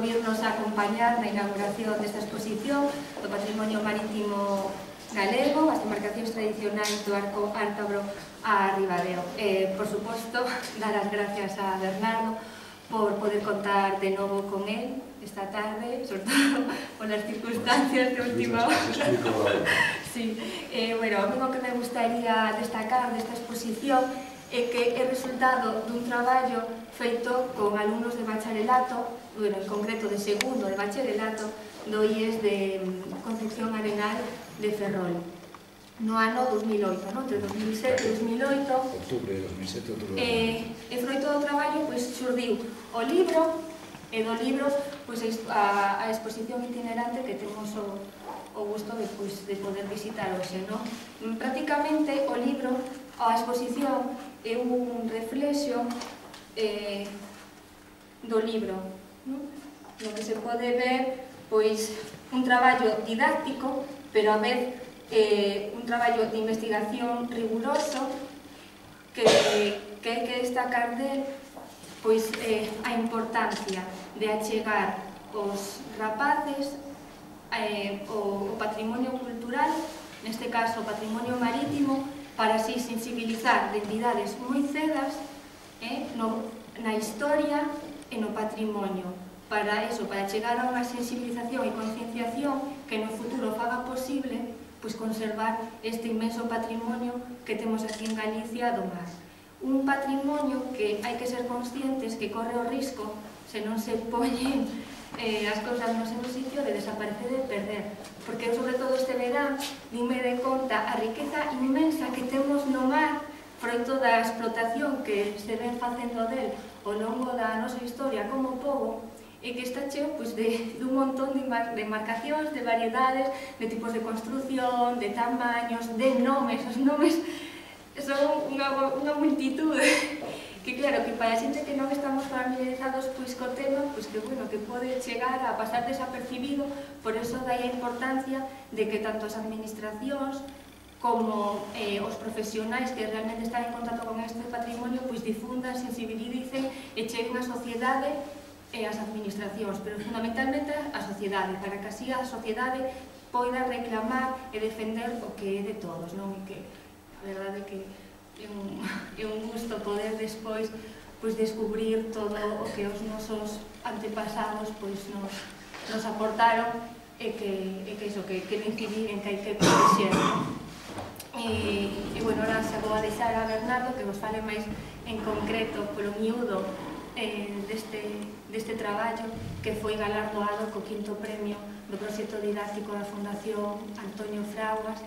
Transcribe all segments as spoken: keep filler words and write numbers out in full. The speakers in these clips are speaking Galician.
virnos a acompañar na inauguración desta exposición do Patrimonio Marítimo Galego, as embarcacións tradicionais do arco ártabro a Ribadeo. Eh, por suposto, dar as gracias a Bernardo por poder contar de novo con él esta tarde, sobre todo polas circunstancias de última hora. Sí. Eh, bueno, o que me gustaría destacar desta exposición é que é resultado dun traballo feito con alumnos de bacharelato, bueno, en concreto de segundo de bacharelato, do I E S de Concepción Arenal de Ferrol. No ano dos mil oito, no? Entre dos mil sete e dos mil oito. Octubre de dos mil sete, outubro. E, e froito do traballo, pois, xurdiu o libro, e do libro, pois, a, a exposición itinerante que temos o, o gusto de, pois, de poder visitar hoxe, no? Prácticamente, o libro, a exposición, é un reflexo eh, do libro, no? No que se pode ver, pois, un traballo didáctico, pero a vez eh, un traballo de investigación riguroso que, que hai que destacar del, pois, eh, a importancia de achegar os rapaces eh, o, o patrimonio cultural, neste caso o patrimonio marítimo, para así sensibilizar de entidades moi cedas eh, no, na historia e no patrimonio. Para eso, para chegar a unha sensibilización e concienciación que no futuro faga posible pois, conservar este inmenso patrimonio que temos aquí en Galicia do mar. Un patrimonio que hai que ser conscientes que corre o risco, se non se poñen eh, as cousas no seu sitio, de desaparecer e de perder. Porque eu, sobre todo este verán, dime de conta a riqueza inmensa que temos no mar, froito da explotación que se ven facendo del ao longo da nosa historia como pobo, e que está cheo pois, de, de un montón de, de embarcacións, de variedades, de tipos de construcción, de tamaños, de nomes. Os nomes son unha, unha multitud que, claro, que para a xente que non estamos familiarizados pois, co tema, pois, que, bueno, que pode chegar a pasar desapercibido. Por eso dai a importancia de que tanto as administracións como eh, os profesionais que realmente están en contacto con este patrimonio pois, difundan, sensibilicen e cheguen a sociedade e as administracións, pero fundamentalmente a sociedade, para que así a sociedade poida reclamar e defender o que é de todos, non? E que a verdade é que é un, é un gusto poder despois pois, descubrir todo o que os nosos antepasados pois, nos, nos aportaron e que, e que iso, que, que non incidir en que hai que protexer. E, e bueno, ahora se vou a deixar a Bernardo que vos fale máis en concreto polo miúdo Eh, deste, deste traballo que foi galardoado co quinto premio do proxecto didáctico da Fundación Antonio Fraguas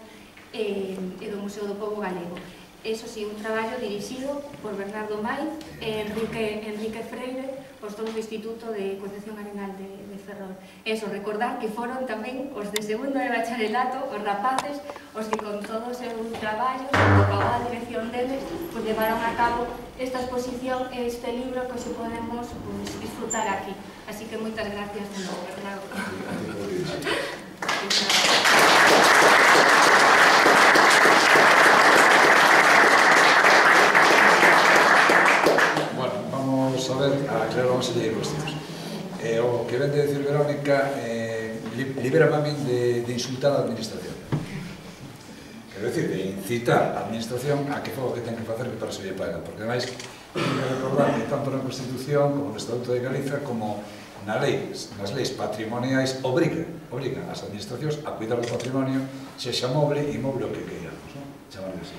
e, e do Museo do Pobo Galego. Eso sí, un traballo dirixido por Bernardo Maiz e Enrique, Enrique Freire, os dous do Instituto de Concepción Arenal de, de Ferrol. Eso, recordar que foron tamén os de segundo de bacharelato, os rapaces, os que con todo o seu traballo, con a dirección deles, pues levaron a cabo esta exposición e este libro que se podemos pues, disfrutar aquí. Así que moitas gracias de novo, Bernardo. Bueno, vamos a ver, a aclarar unha serie de cuestións. Eh, o que ven de decir Verónica eh, libera a min de, de insultar a administración. Quero dicir, de incitar a administración a que faga o que ten que facer que para se lle paga, porque ademais ten que recordar que tanto na Constitución como no Estatuto de Galiza como na lei, nas leis patrimoniais obriga, obriga as administracións a cuidar do patrimonio, sexa moble e imoble o que queiramos, non? Chamarlo así.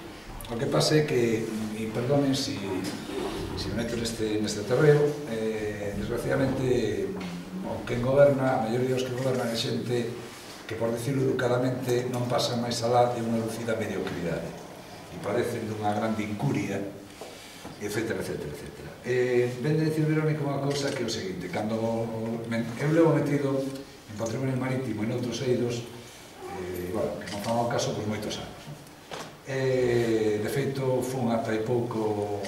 O que pasa é que, e perdonen se si, si me meto neste, neste terreo, eh, desgraciadamente o que goberna, a maioría dos que gobernan é xente que, por dicirlo educadamente, non pasa máis alá de unha lucida mediocridade e parecen dunha grande incuria, etcétera, etcétera, etcétera. Eh, ven de dicir Verónica unha cousa que é o seguinte: cando eu levo metido en patrimonio marítimo e noutros eidos, eh, bueno, que non fan ao caso, pois moitos anos. Eh, de feito, fun ata hai pouco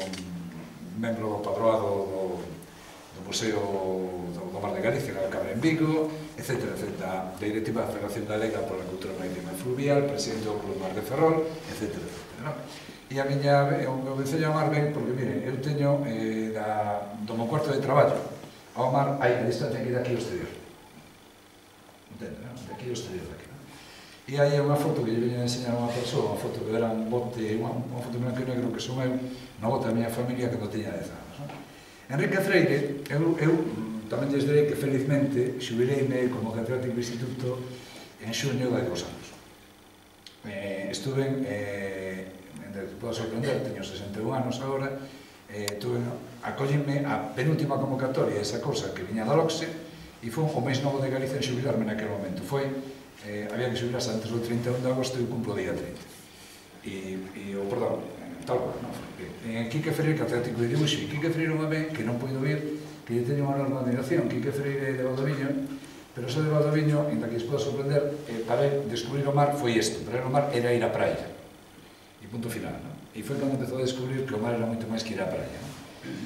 membro padroado do, do Museo do Mar de Galicia, na Cabra en Vigo, etcétera, etcétera, da directiva da Federación Galega pola Cultura Marítima e Fluvial, presidente do Club Mar de Ferrol, etcétera, etcétera, non? E a miña, o meu vencello a mar ben, porque, miren, eu teño eh, da, do meu cuarto de traballo ao mar hai a distancia que daqui ao exterior. Entende, non? Daqui ao exterior daqui. E hai unha foto que lle veño a enseñar a unha persoa, unha foto que era un bote, unha, unha foto blanco e negro que son eu, unha bote da miña familia cando tiña dez anos. Non? Enrique Freire, eu, eu tamén lles direi que felizmente xubileime como catedrático do instituto en xuño de dos anos. Eh, estuve, eh, te podo sorprender, teño sesenta e un anos agora, eh, tuve, acollime a penúltima convocatoria esa cosa que viña da LOCSE e foi o máis novo de Galicia en xubilarme naquele momento. Foi Eh, había que xubilarse antes do trinta e un de agosto e eu cumplo o día trinta. E, e o, perdón, tal cual, non? En Quique Freire, catedrático de dibuixo, e Quique Freire unha vez, que non poido vir, que lle teño unha enorme admiración, Quique Freire de Valdoviño, pero ese de Valdoviño, ainda que les poda sorprender, eh, para ele descubrir o mar foi isto, para ele o mar era ir á praia. E punto final, non? E foi cando empezou a descubrir que o mar era moito máis que ir á praia, non?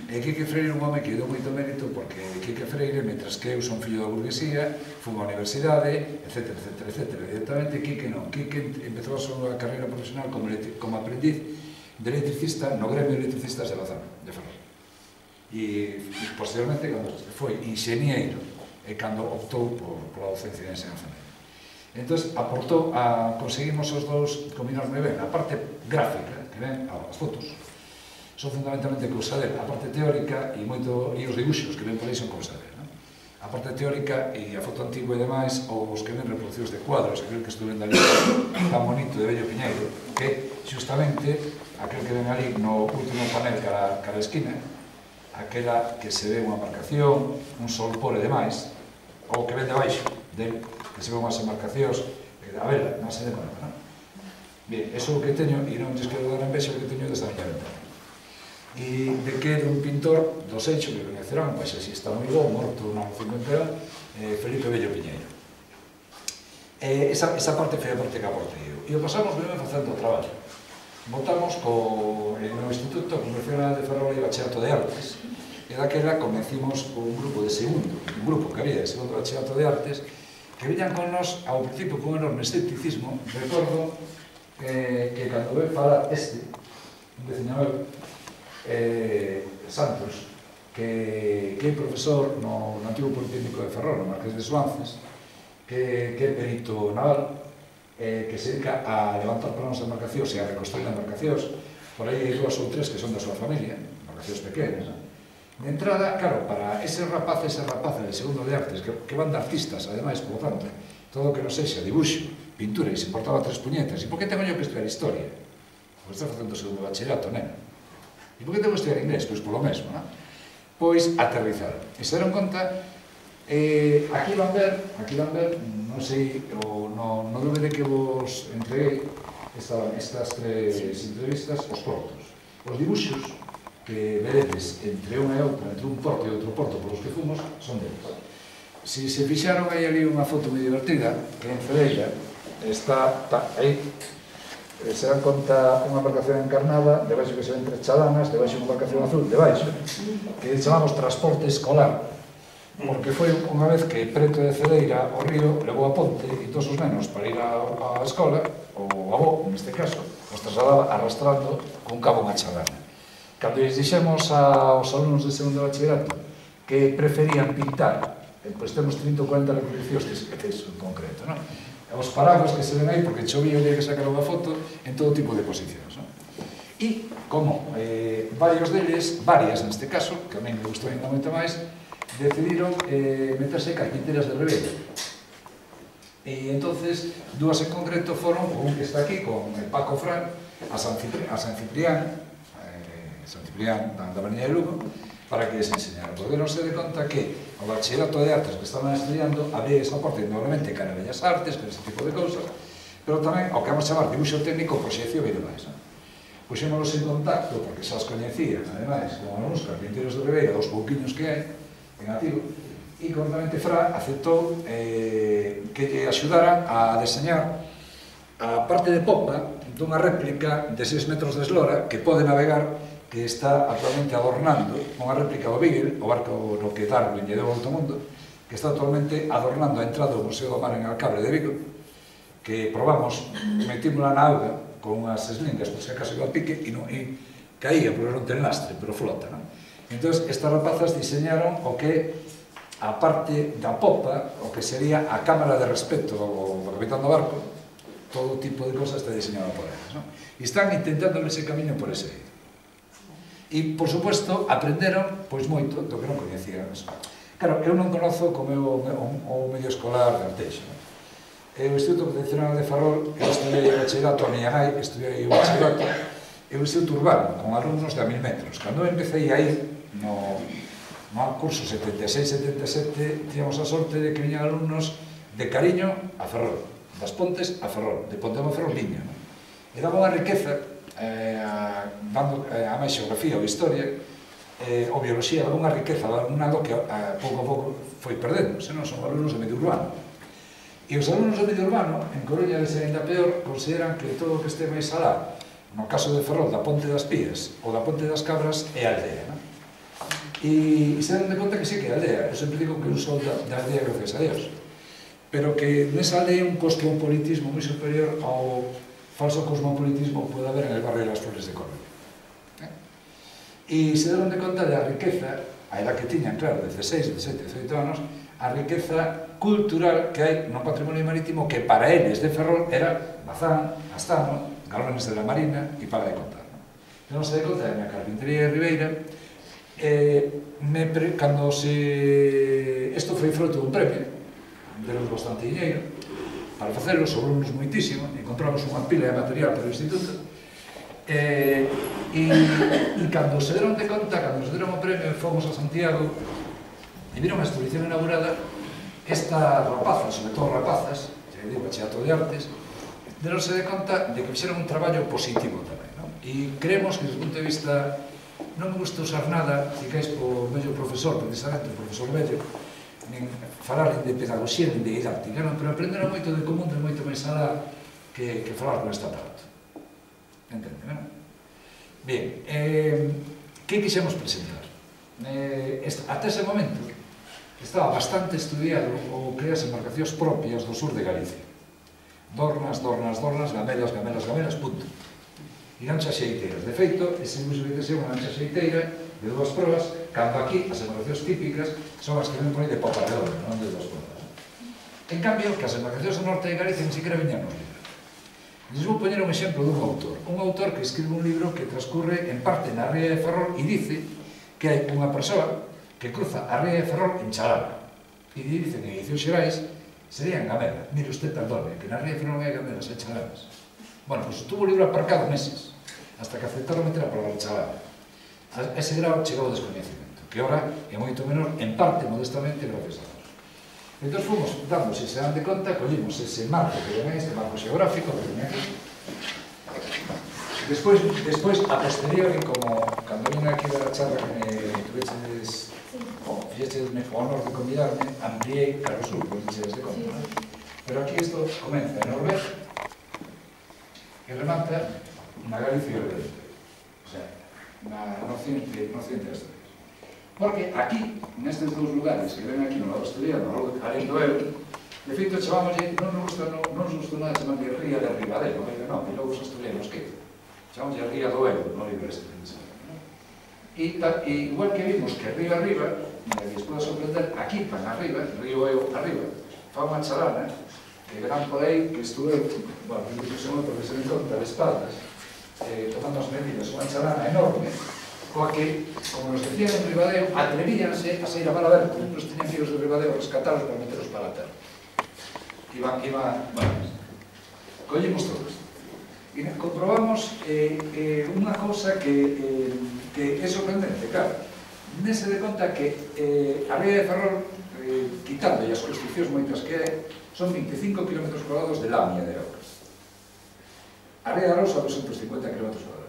E Quique Freire é un home que deu moito mérito porque Quique Freire, mentras que eu son fillo da burguesía, fui á universidade, etcétera, etcétera, etcétera. Directamente Quique non. Quique empezou a súa carreira profesional como, como aprendiz de electricista no gremio de electricistas de Bazán, de Ferrol. E, e posteriormente, cando foi ingeniero, e cando optou por, por a docencia de enseñanza media. Entón, aportou a, conseguimos os dous combinar moi ben a parte gráfica, que ven, as fotos, son fundamentalmente cousa dele, a parte teórica e moito e os dibuixos que ven por aí son cousa dele, non? A parte teórica e a foto antigua e demais, ou os que ven reproducidos de cuadros, aquel que estuve en Dalí tan bonito de Bello Piñeiro, que xustamente aquel que ven ali no último panel cara, cara a esquina, aquela que se ve unha embarcación, un solpor e demais, ou que ven debaixo del, que se ve unhas embarcacións, a vela, non se de conta, non? Bien, eso é o que teño, e non lles quero dar envexa o que teño desta miña ventana. E de que era un pintor do Seixo, que coñecerán, pois así está moi bo, morto no cincuenta e un, eh, Felipe Bello Piñeiro. Eh, esa, esa parte foi a parte que aportei eu. E o pasamos ben facendo o traballo. Votamos co, no Instituto Convencional de Ferrol e Bachillerato de Artes, e daquela convencimos un grupo de segundo, un grupo que había de segundo Bachillerato de Artes, que viñan con nos ao principio con un enorme escepticismo. Recordo eh, que cando ve falar este, un diseñador, Eh, Santos, que, que é profesor no, no antigo Politécnico de Ferrol, no Marqués de Suances, que, que é perito naval, eh, que se dedica a levantar planos de embarcacións e a reconstruir embarcacións. Por aí hai dúas ou tres que son da súa familia, embarcacións pequenas. De entrada, claro, para eses rapaces e rapazas de segundo de artes, que, que van de artistas, ademais, por tanto, todo o que non sexa dibuixo, pintura, e se importaba tres puñetas, e por que tengo yo que estudiar historia? Porque estás facendo o segundo bachillerato, nena. E por que tengo que estudiar inglés? Pois polo mesmo, non? Pois aterrizar. E se deron conta, eh, aquí van ver, aquí van ver, non sei, o no, no D V D que vos entreguei, estaban estas tres entrevistas, os portos. Os dibuixos que veredes entre unha e outra, entre un porto e outro porto polos que fomos, son deles. Se se fixaron, hai ali unha foto moi divertida, que en Cedeira está, está aí, se dan conta unha embarcación encarnada, debaixo que se ven tres chalanas, debaixo unha embarcación azul, debaixo, que chamamos transporte escolar, porque foi unha vez que preto de Cedeira o río levou a ponte e todos os nenos para ir á escola, o avó, neste caso, os trasladaba arrastrando con cabo unha chalana. Cando lles dixemos aos alumnos de segundo bachillerato que preferían pintar, pois temos trinta ou cuarenta reproduccións deso en concreto, non? Os paraguas que se ven aí, porque chovía o día que sacaron a foto, en todo tipo de posicións, non? E, como eh, varios deles, varias neste caso, que a mí me gustou ainda moito máis, decidiron eh, meterse carpinteras de Ribeira. E entonces, dúas en concreto foron, un que está aquí, con el Paco Fran, a San Ciprián, a San Ciprián, eh, San Ciprián da, da Avenida de Lugo, para que les enseñaran, porque non se de conta que o bachillerato de artes que estaban estudiando había esa parte indudablemente cara a Bellas Artes, que ese tipo de cousas, pero tamén ao que vamos chamar dibuixo técnico, proxección e demais. Puxémonos en contacto, porque xa os coñecían, ademais, con algúns carpinteiros de Ribeira, dos pouquiños que hai, en activo, e concretamente Fra aceptou eh, que lle axudaran a deseñar a parte de popa dunha réplica de seis metros de eslora que pode navegar, que está actualmente adornando unha réplica do Beagle, o barco no que Darwin lle deu ao alto mundo, que está actualmente adornando a entrada do Museo do Mar en Alcabre de Vigo, que probamos, metímola na auga con unhas eslingas, por se acaso iba a pique, e, non, e caía, porque non ten lastre, pero flota, non? Entón, estas rapazas diseñaron o que a parte da popa, o que sería a cámara de respeto do capitán do barco, todo tipo de cosas está diseñado por eles, non? E están intentando ese camiño por ese eido. E, por suposto, aprenderon pois moito do que non coñecían. Claro, eu non conozo como é o medio escolar de Arteixo. O Instituto Profesional de Ferrol, eu estudei o bachillerato a miña nai, estudei o bachillerato, é un instituto urbano, con alumnos de a mil metros. Cando eu empecé a ir no no curso setenta e seis setenta e sete, tíamos a sorte de que viñan alumnos de Cariño a Ferrol, das Pontes a Ferrol, de Pontema a Ferrol viña. E daba unha riqueza, dando a máis xeografía ou historia, ou biología, daba unha riqueza, daba un algo que a pouco a pouco foi perdendo, senón son alumnos de medio urbano. E os alumnos do medio urbano, en Coruña de ser ainda peor, consideran que todo o que este máis alá, no caso de Ferrol, da Ponte das Pías ou da Ponte das Cabras, é aldea, non? E se dan de conta que sí que é aldea. Eu sempre digo que un sol da aldea, gracias a Dios. Pero que nesa aldea un cosmopolitismo moi superior ao falso cosmopolitismo que pode haber en el barrio de las Flores de Coruña. E se dan de conta da riqueza, a edad que tiñan, claro, dezasseis, dezasete, dezoito anos, a riqueza cultural que hai no patrimonio marítimo que para eles de Ferrol era Bazán, Astano, Galones de la Marina e para de contar. Eu non se de conta da minha carpintería de Ribeira, cando se... Isto foi fruto dun premio, deron bastante dinheiro, para facelo, sobrou-nos moitísimo, encontramos unha pila de material para o instituto, e cando se deron de conta, cando se deron o premio, fomos a Santiago, e viron a exposición inaugurada, estas rapazas, sobre todo rapazas, xa digo, bachillerato de artes, deronse de conta de que fixeron un traballo positivo tamén, non? E creemos que, desde o punto de vista, non me gusta usar nada, ficáis po medio profesor, precisamente, o profesor Bello, nin falar de pedagogía, nin de didáctica, non? Pero aprenderon moito de común, de moito máis alá que, que falar con esta parte. Entende, non? Bien, eh, que quixemos presentar? Eh, esta, até ese momento, estaba bastante estudiado o que as embarcacións propias do sur de Galicia. Dornas, dornas, dornas, gamelas, gamelas, gamelas, punto. E lanchas xeiteiras. De feito, ese uso de ser unha lancha xeiteira de dúas proas, cando aquí as embarcacións típicas son as que ven por aí de popa redonda, non de dúas proas. En cambio, que as embarcacións do norte de Galicia ni siquiera viñan nos libros. Les vou poñer un exemplo dun autor. Un autor que escribe un libro que transcurre en parte na ría de Ferrol e dice que hai unha persoa que cruza a ría de Ferrol en chalana. E dicen en edicións xerais sería en gamela. Mire usted, perdone, que na ría de Ferrol hai gamelas, hai chalanas. Bueno, pois tuvo o libro aparcado meses, hasta que aceptaron meter a palabra chalana. A ese grado chegou o descoñecimento, que ora é moito menor, en parte, modestamente, gracias a Dios. Entón fomos dando, se se dan de conta, collimos ese marco que ven este marco xeográfico que ven aquí. Despois, despois a posteriori, como cando vine aquí da charla que me tuveches, o fixeches o honor de convidarme, ampliei cara ao sur, por fixeches de conta, non? Pero aquí isto comeza en Noruega e remata na Galicia Oriente, o sea, no occidente das Asturias. Porque aquí, nestes dous lugares que ven aquí no lado asturiano, alén do Ebro, de feito chamámoslle, non nos gusta, non nos gusta nada chamarlle ría de Ribadeo, non, e logo os asturianos que chamámoslle ría do Ebro, no libro este. E igual que vimos que río arriba, e les podo sorprender, aquí pan arriba, río Ebro arriba, fa unha chalana, que verán por aí que estuve, bueno, que son outro que se me conta de espaldas, tomando as medidas, unha chalana enorme, coa que, como nos decían en Ribadeo, atrevíanse a sair a mar aberto, nos tenían que ir os de Ribadeo a rescatarlos para meterlos para a terra. Iba, iba, bueno, collemos todo isto. E comprobamos unha cousa que é sorprendente, claro. Nese de conta que a ría de Ferrol, quitando as construccións moitas que hai, son veinticinco kilómetros cuadrados de lamia de auga. A ría de Arousa, doscientos cincuenta kilómetros cuadrados.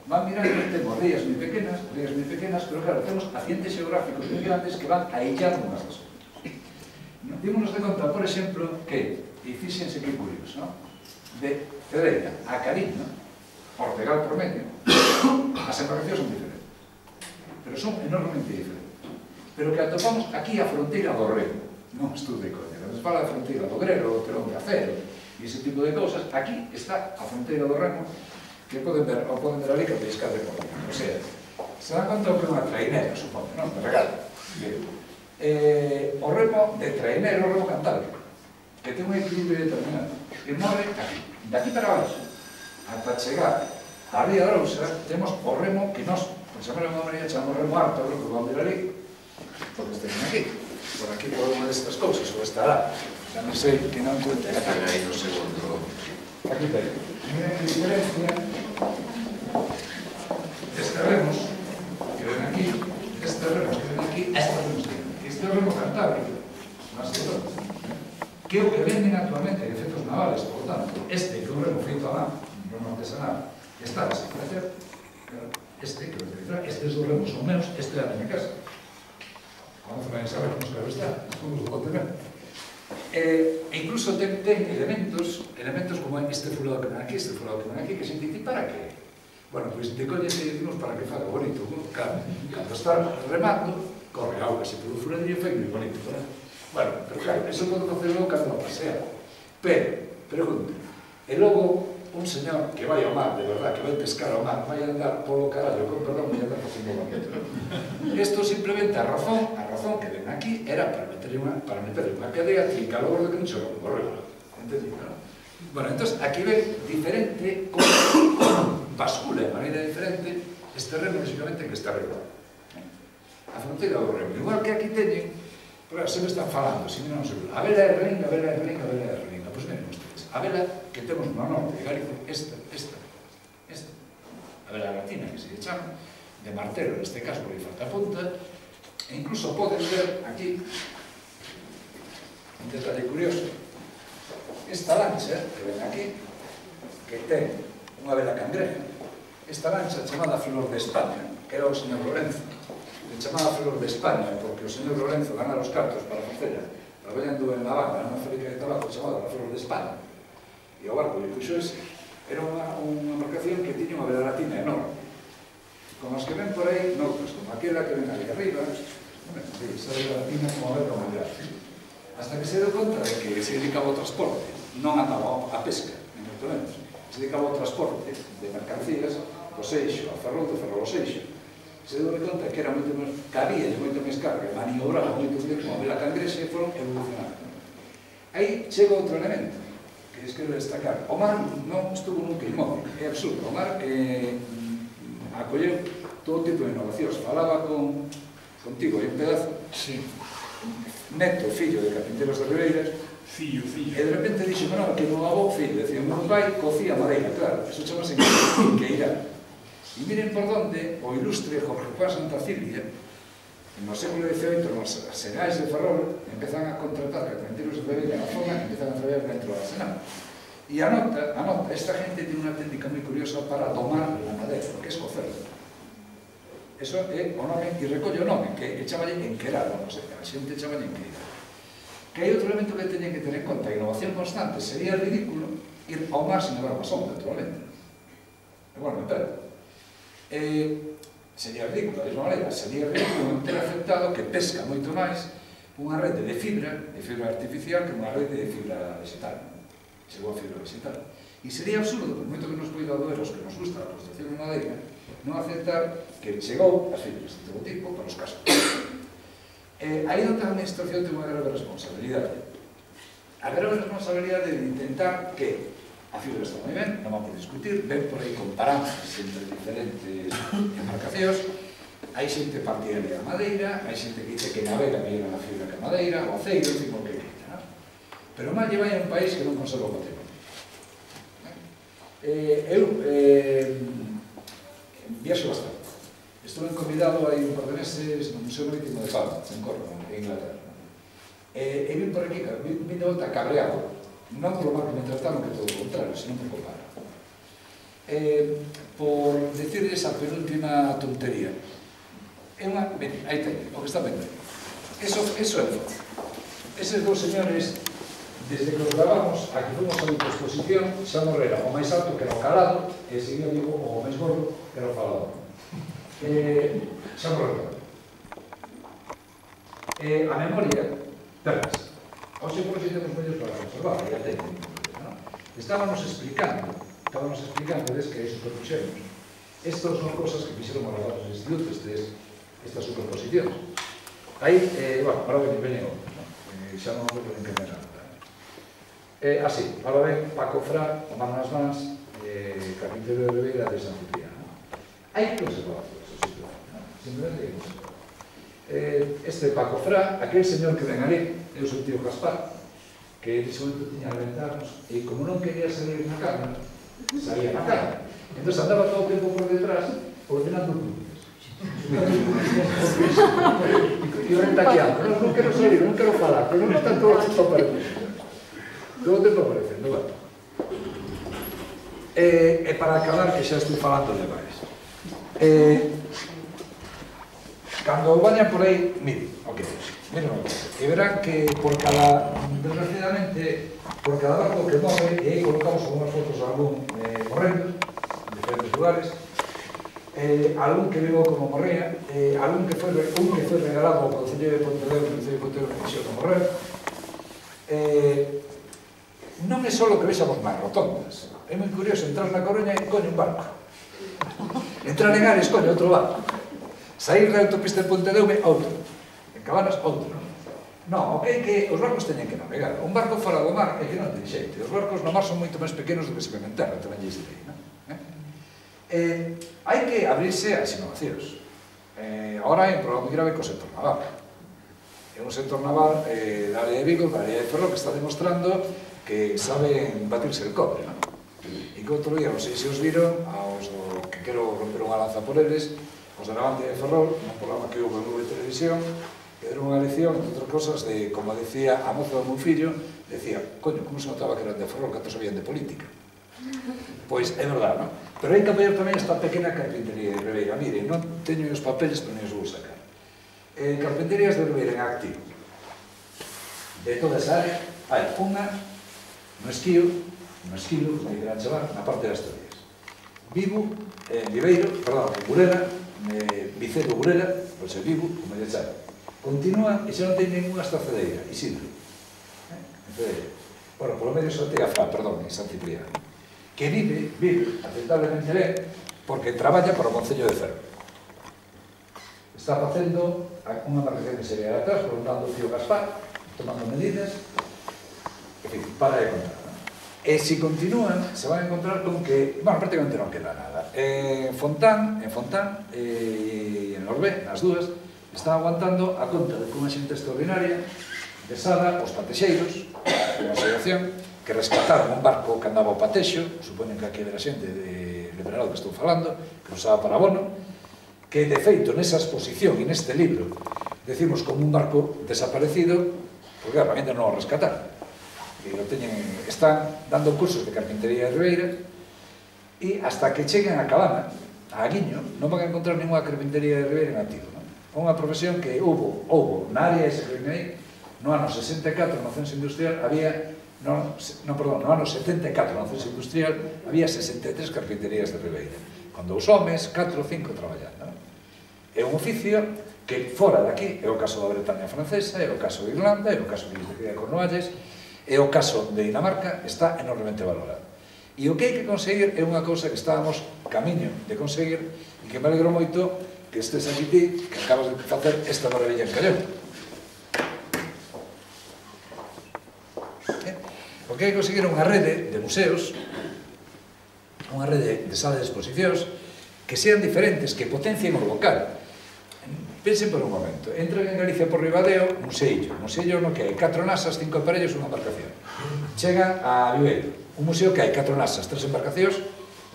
Van mirando, temos rías moi pequenas, rías moi pequenas, pero claro, temos accidentes xeográficos moi grandes que van aillando unhas das outras. Dímonos de conta, por exemplo, que, e fíxense que curioso, non? De Cedeira a Carín, non? Ortegal por medio, as embarcacións son diferentes, pero son enormemente diferentes. Pero que atopamos aquí a fronteira do Remo, non estudo de coña, cando se fala da fronteira do Grero, do telón de acero, e ese tipo de cousas, aquí está a fronteira do Remo, que poden ver, ou poden ver ali que a pescar de Coruña. O sea, se dan conta que é unha trainera, supongo, non? De regalo. Eh, o remo de trainero, o remo cantábrico, que ten un equilibrio determinado, que morre aquí, de aquí para abaixo, ata chegar a Ría de Arousa, temos o remo que nos, por chamar unha maneira, chamamos remo alto, o que vamos a ver ali, porque estén aquí, por aquí por unha destas cousas, ou estará, xa non sei que non cuente. Están aí no segundo. Aquí ten. Miren a diferencia destes remos que ven aquí, estes remos que ven aquí, estes remos que ven aquí. Este é o remo cantábrico, máis que todo, que é o que venden actualmente en efectos navales, por tanto, este que é un remo feito a mano, un remo artesanal, está a desaparecer, este que o utilizar, estes dos remos son meus, este é a miña casa. Vamos a saber como claro está, como os vou tener. E incluso ten, ten elementos, elementos como este fulado que ven aquí, este fulado que ven aquí, que se entiende para que? Bueno, pois de coña se dicimos para que faga bonito, claro, cando está remando, corre auga, se polo furadillo fai moi bonito, ¿verdad? Bueno, pero claro, eso pode facerlo cando pasea. Pero, pregunto, e logo un señor que vai ao mar, de verdad, que vai pescar ao mar, vai andar polo carallo, con perdón, vai andar facendo bonito. Isto simplemente a razón, a razón que ven aquí era para meterle unha, para meterle unha cadea e calor de que non se lo correu. Entendido, non? Bueno, entón, aquí ven diferente, como bascula de maneira diferente, este remo, lógicamente, que está arriba. A fronteira do remo. Igual que aquí teñen, pero se me están falando, se me non seguro. A vela é relinga, a vela é relinga, a vela é relinga. Pois miren ustedes, a vela que temos no norte de Galicia, esta, esta, esta, a vela latina, que se chama, de martelo, neste caso, porque falta punta, e incluso podes ver aquí, un detalle curioso, esta lancha, que ven aquí, que ten unha vela cangreja, esta lancha chamada Flor de España, que era o señor Lorenzo, que chamaba Flor de España, porque o señor Lorenzo ganara os cartos para facela, traballando en La Habana, nunha fábrica de tabaco chamada La Flor de España, e o barco lle puxo ese, era unha, unha embarcación que tiña unha vela latina enorme, como as que ven por aí, noutros, como aquela que ven ali arriba, bueno, sí, esa vela latina como a vela mundial, hasta que se deu conta de que se dedicaba ao transporte, non andaba a pesca, ni moito menos, se dedicaba ao transporte de mercancías, do Seixo, a Ferrol, de Ferrol ao Seixo, se deu conta que era moito máis, cabía de moito máis carga, maniobraba moito máis como a vela cangrexa e foron evolucionando. Aí chega outro elemento que es quero destacar. O mar non estuvo nunca inmóvil, é absurdo. O mar eh, acolleu todo tipo de innovacións. Falaba con, contigo aí un pedazo, sí. neto, fillo de carpinteros de Ribeiras, Fillo, fillo. e de repente dixo, non, que non avó fillo, decía, non vai, cocía madeira, claro, eso chamase queirá. E miren por donde o ilustre Jorge Juan Santacilia, no século diecioito, nos senais de Ferrol, empezan a contratar carpinteros de Ribeiras na zona e empezan a traballar dentro da Senal. E anota, anota, esta gente ten unha técnica moi curiosa para domar a madeira, que é escocerla. Eso é o nome, e recolle o nome, que chamalle enquerar, non sei, a xente chamalle enquerar. Que hai outro elemento que teñen que ter en conta, a innovación constante, sería ridículo ir ao mar sin levar basón, naturalmente. E bueno, me perde. Eh, sería ridículo, da mesma maneira, sería ridículo non ter aceptado que pesca moito máis unha rede de fibra, de fibra artificial, que unha rede de fibra vegetal. Chegou a fibra vegetal. E sería absurdo, por moito que nos poida doer os que nos gusta a construcción de madeira, non aceptar que chegou as fibras de todo tipo para os casos. Eh, aí onde a administración ten unha grave responsabilidade. A grave responsabilidade de intentar que a fibra está moi ben, non vamos a discutir, ven por aí comparanzas entre diferentes embarcacións, hai xente partidaria da madeira, hai xente que dice que navega mellor na fibra que a madeira, o aceiro, en fin, o que quita, non? Pero mal lle vai a un país que non conserva o patrimonio. Eh, eu eh, viaxo bastante. Estuve convidado aí un par de meses no Museo Marítimo de Palma, en Córdoba, en Inglaterra. E, e vim por aquí, vim de volta cabreado, non polo mal que me trataron, que todo o contrario, senón por compara. Eh, por decirles a penúltima tontería. É unha... Ben, aí ten, o que está vendo. Eso, eso é fácil. Eses dos señores, desde que os gravamos, a que fomos a outra exposición, xa morrera o máis alto que era o calado, e seguía vivo o máis gordo que era o falado. Eh, xa morrera. Eh, a memoria, perdas. Hoxe por si temos medios para conservar, ya ten. Estábamos explicando, estábamos explicando des que hai superpuxemos. Estas son cosas que fixeron os rabatos institutos, estas superposicións. Aí, bueno, ahora ben veñen outros, xa non me poden que nada. Así, ahora ben, Paco Fra, o man nas mans, carpintero de Ribeira de San Cipriano. Hai que observar esa situación, simplemente hai que observar. Este Paco Fra, aquel señor que ven ali, é o seu tío Gaspar, que en ese momento tiña ventanos, e como non quería salir na cámara, salía na cámara. Entón andaba todo o tempo por detrás, ordenando puntos. E eu rentaqueando, non quero salir, non quero falar, pero non están todos os papeles. Todo o tempo aparecendo, bueno. E para acabar, que xa estou falando de máis. Cando vayan por aí, miren o que é. Miren o que é. E verán que por cada, desgraciadamente, por cada barco que morre, e aí colocamos algunas fotos de algún morrendo, en diferentes lugares, algún que vivo como morrea, algún que foi regalado ao Concello de Pontevedra, o Concello de Pontevedra que fixo como morrer. Non é só que vexamos máis rotondas. É moi curioso entrar na Coruña e coño un barco. Entrar en Ares, coño, outro barco. Saír da autopista de Pontedeume, outro. En Cabanas, outro. Non, o que é que os barcos teñen que navegar. Un barco fora do mar é que non ten xeito. Os barcos no mar son moito máis pequenos do que se ven en terra, tamén lles direi, non? Hai que abrirse ás innovacións. Agora hai un problema moi grave co sector naval. É un sector naval da área de Vigo, da área de Ferrol, que está demostrando que saben batirse el cobre, non? E que outro día, non sei se os viron, aos que quero romper unha lanza por eles, os de Navante de Ferrol, nun programa que houve en Nube Televisión, que deron unha lección, entre outras cosas, de, como decía a moza do meu fillo, decía, coño, como se notaba que eran de Ferrol, que sabían de política? Pois é verdade, non? Pero hai que apoiar tamén esta pequena carpintería de Ribeira. Miren, non teño os papeles, pero non os vou sacar. Carpinterías de Ribeira en activo. De toda esa área, hai unha no esquío, no esquilo, como queran chamar, na parte das Asturias. Vivo, en Viveiro, perdón, en Burela, Vicedo Burela, pois é Vivo, como lle chama. Continúa e xa non ten ninguna estacedeira, Isidro. En Cedeira. Bueno, polo medio xa ten a Fra, perdón, en San Cipriano. Que vive, vive, aceptablemente ben, porque traballa para o Concello de Ferrol. Está facendo unha marcación que sería de atrás, por un lado o tío Gaspar, tomando medidas, en fin, para de contar. E se continúan, se van a encontrar con que, bueno, prácticamente non queda nada. En Fontán, en Fontán e en Orbé, nas dúas, están aguantando a conta de unha xente extraordinaria, desada os patexeiros, unha asociación, que rescataron un barco que andaba ao patexo, supoñen que aquí era xente de Liberal que estou falando, que usaba para abono, que de feito nesa exposición e neste libro decimos como un barco desaparecido, porque claro, ainda non o rescataron. Están dando cursos de carpintería de Ribeira e hasta que cheguen a Cabana, a Aguiño, non van a encontrar ninguna carpintería de Ribeira en activo. É unha profesión que houbo, houbo na área ese que ven aí, no ano sesenta e catro, no censo industrial, había, non, perdón, no ano setenta e catro, no censo industrial, había sesenta e tres carpinterías de Ribeira, con dous homes, catro ou cinco traballando. É un oficio que fora daqui, é o caso da Bretaña francesa, é o caso de Irlanda, é o caso de Cornualles, é o caso de Dinamarca, está enormemente valorado. E o que hai que conseguir é unha cousa que estábamos camiño de conseguir e que me alegro moito que estés aquí ti, que acabas de facer esta maravilla en Callón. O que hai que conseguir é unha rede de museos, unha rede de salas de exposicións que sean diferentes, que potencien o local. Pensen por un momento, entran en Galicia por Ribadeo, Museillo, Museillo no que hai catro nasas, cinco aparellos, unha embarcación. Chegan a Viveiro, un museo que hai catro nasas, tres embarcacións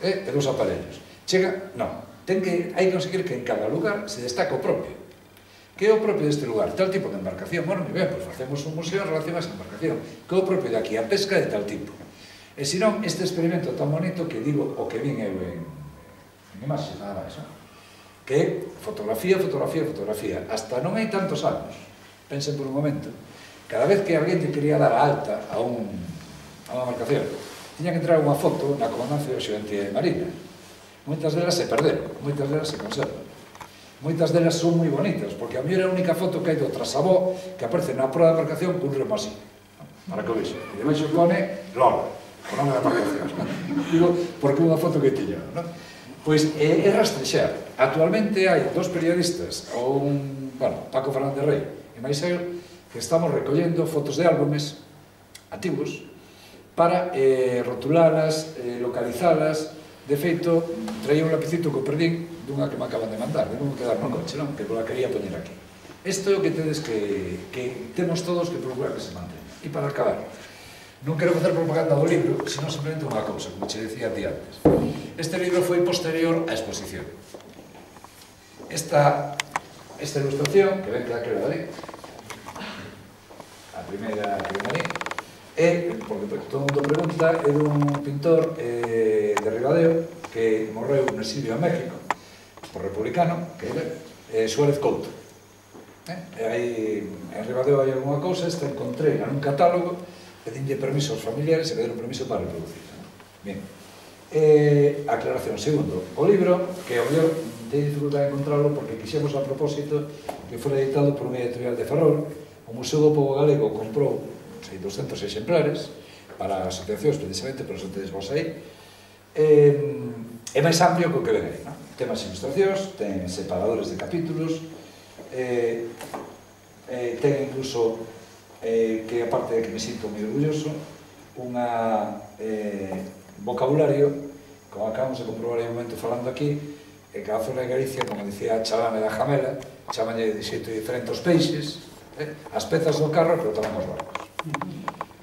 e dous aparellos. Chega, non, ten que, hai que conseguir que en cada lugar se destaca o propio. Que é o propio deste lugar? Tal tipo de embarcación. Bueno, moi ben, pois facemos un museo en relación a esa embarcación. Que é o propio de aquí? A pesca de tal tipo. E senón, este experimento tan bonito que digo o que vin eu en imaxes, nada máis, non? Que é fotografía, fotografía, fotografía. Hasta non hai tantos anos, pensen por un momento, cada vez que alguén te quería dar a alta a unha embarcación, tiña que entrar unha foto na Comandancia de Xeonte Marina. Moitas delas se perderon, moitas delas se conservan. Moitas delas son moi bonitas, porque a mí era a única foto que hai do trasabó que aparece na proa da embarcación cun remo así, para que o vexo. E debaixo pone Lola, o nome da embarcación. Digo, porque é unha foto que tiña, non? Pois é rastrexar. Actualmente hai dos periodistas ou un bueno, Paco Fernández Rey e máis eu, que estamos recollendo fotos de álbumes antigos para eh, rotulalas, eh, localizalas. De feito, traía un lapicito que perdín dunha que me acaban de mandar, de non quedar no coche, non? Que la quería poñer aquí. Isto é o que tedes que, que temos todos que procurar que se mantenga. E para acabar, non quero facer propaganda do libro, senón simplemente unha cousa, como che decía a ti antes. Este libro foi posterior á exposición. Esta, esta ilustración, que ven que daquela ali, a primeira que ven ali, é, porque todo mundo pregunta, é dun pintor eh, de Ribadeo que morreu no exilio a México, por republicano, que é eh, Suárez Couto. Eh? E aí, en Ribadeo hai alguna cousa, esta encontrei nun catálogo, pedinlle permiso aos familiares e pedir un permiso para reproducir. Bien. Eh, aclaración. Segundo, o libro, que ao mellor teño dificultade de encontrarlo porque quixemos a propósito que fora editado por unha editorial de Ferrol. O Museo do Pobo Galego comprou sei, doscentos exemplares para asociacións, precisamente, pero son tedes vos aí. Eh, é máis amplio que o que ven aí, non? Ten máis ilustracións, ten separadores de capítulos, eh, eh, ten incluso, eh, que aparte de que me sinto moi orgulloso, unha eh, vocabulario, como acabamos de comprobar en un momento falando aquí, que cada zona de Galicia, como dicía Chalame da Jamela, chamalle de xeito diferente os peixes, eh, as pezas do carro, pero tamén os barcos.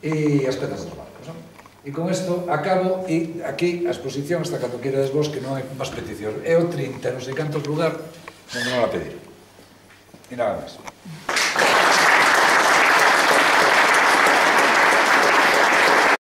E as pezas dos barcos, non? E con isto acabo, e aquí a exposición hasta cando queredes vos, que non hai máis peticións. É o trinta, non sei cantos lugar, onde non la pedir. E nada máis.